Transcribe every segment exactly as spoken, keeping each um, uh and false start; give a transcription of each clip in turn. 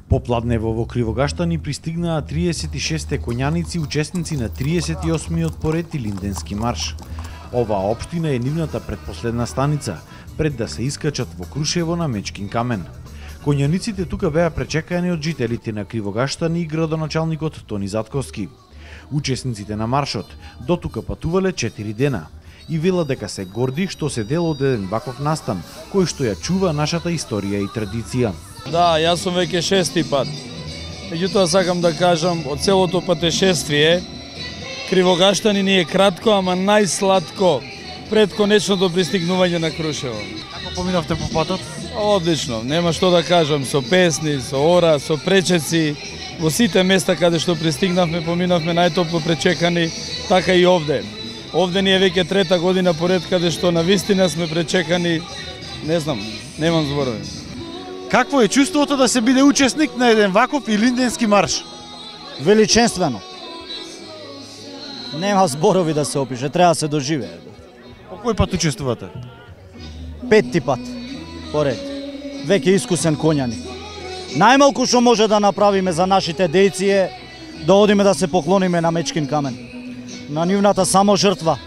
Попладнево во Кривогаштани пристигнаа триесет и шесте коњаници, учесници на триесет и осмиот поред Илинденски марш. Оваа општина е нивната предпоследна станица, пред да се искачат во Крушево на Мечкин камен. Коњаниците тука беа пречекани од жителите на Кривогаштани и градоначалникот Тони Затковски. Учесниците на маршот дотука патувале четири дена и велат дека се горди што се дел од еден ваков настан, кој што ја чува нашата историја и традиција. Да, јас сум веќе шести пат. Меѓутоа сакам да кажам, од целото патешествие, Кривогаштани ни е кратко, ама најсладко пред конечното пристигнување на Крушево. Како поминавте по патот? Одлично, нема што да кажам, со песни, со ора, со пречеци. Во сите места каде што пристигнавме, поминавме најтопло пречекани, така и овде. Овде ни е веќе трета година поред каде што на вистина сме пречекани, не знам, немам зборови. Какво е чувството да се биде учесник на еден ваков Илинденски марш? Величествено. Нема зборови да се опише, треба да се доживее. По кој пат учествувате? Петти пат поред. Веќе искусен коњаник. Најмалку што може да направиме за нашите дејци е да одиме да се поклониме на Мечкин камен. На нивната само жртва.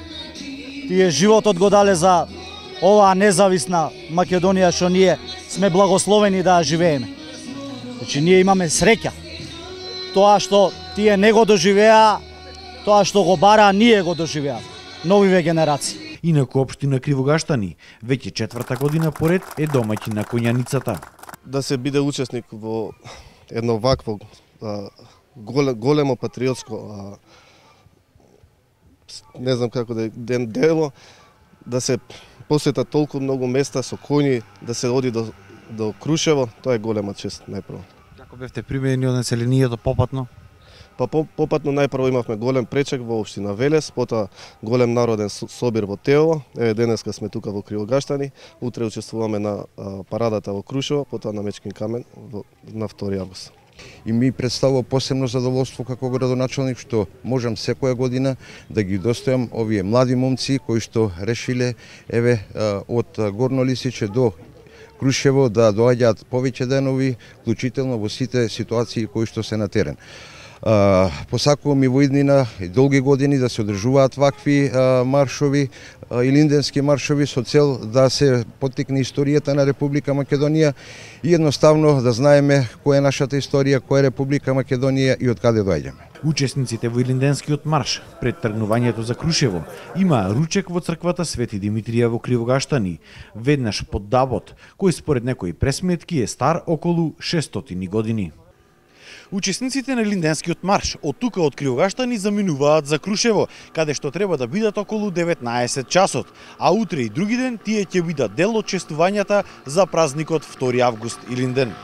Тие животот го дале за оваа независна Македонија што ние сме благословени да ја живееме. Значи ние имаме среќа. Тоа што тие не го доживеа, тоа што го бараа, ние го доживеа. Новиве генерации. Инаку општина Кривогаштани веќе четврта година поред е домаќин на коњаницата. Да се биде учесник во едно вакво а, големо патриотско а, не знам како да ден дело, да се посета толку многу места со коњи, да се оди до до Крушево, тоа е голема чест најпрво. Како бевте примени од населението попатно? Па попатно најпрво имавме голем пречек во општина Велес, потоа голем народен собир во Теово. Еве денеска сме тука во Кривогаштани, утре учествуваме на а, парадата во Крушево, потоа на Мечкин камен во, на втори август. И ми представува посебно задоволство како градоначалник што можам секоја година да ги достојам овие млади момци кои што решиле еве од Горно Лисиче до Крушево да доаѓаат повеќе денови, вклучително во сите ситуации кои што се на терен. Uh, посакувам и во иднина и долги години да се одржуваат вакви uh, маршови, uh, илинденски маршови со цел да се поттикне историјата на Република Македонија и едноставно да знаеме која е нашата историја, која е Република Македонија и од каде доаѓаме. Учесниците во Илинденскиот марш пред тргнувањето за Крушево имаа ручек во црквата Свети Димитрија во Кривогаштани, веднаш под дабот, кој според некои пресметки е стар околу шестстотини години. Учесниците на Илинденскиот марш од тука од Кривогаштани заминуваат за Крушево, каде што треба да бидат околу деветнаесет часот, а утре и други ден тие ќе бидат дел од честувањата за празникот втори август Илинден.